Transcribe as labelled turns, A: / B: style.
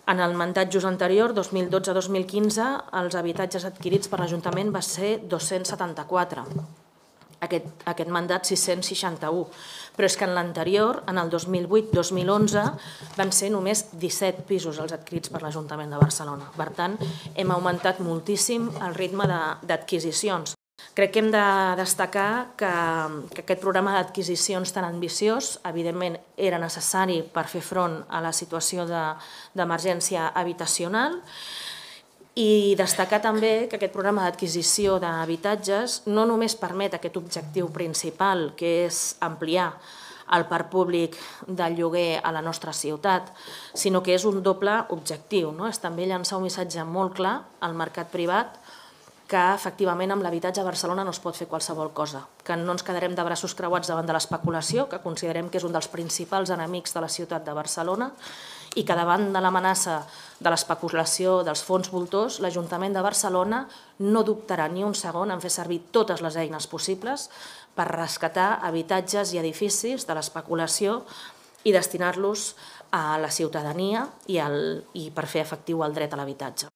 A: En el mandat just anterior, 2012-2015, els habitatges adquirits per l'Ajuntament va ser 274. Aquest mandat 661, però és que en l'anterior, en el 2008-2011, van ser només 17 pisos els adquirits per l'Ajuntament de Barcelona. Per tant, hem augmentat moltíssim el ritme d'adquisicions. Crec que hem de destacar que aquest programa d'adquisicions tan ambiciós, evidentment, era necessari per fer front a la situació d'emergència habitacional, i destacar també que aquest programa d'adquisició d'habitatges no només permet aquest objectiu principal, que és ampliar el parc públic del lloguer a la nostra ciutat, sinó que és un doble objectiu. És també llançar un missatge molt clar al mercat privat que efectivament amb l'habitatge a Barcelona no es pot fer qualsevol cosa, que no ens quedarem de braços creuats davant de l'especulació, que considerem que és un dels principals enemics de la ciutat de Barcelona, i que davant de l'amenaça de l'especulació dels fons voltors, l'Ajuntament de Barcelona no dubtarà ni un segon en fer servir totes les eines possibles per rescatar habitatges i edificis de l'especulació i destinar-los a la ciutadania i per fer efectiu el dret a l'habitatge.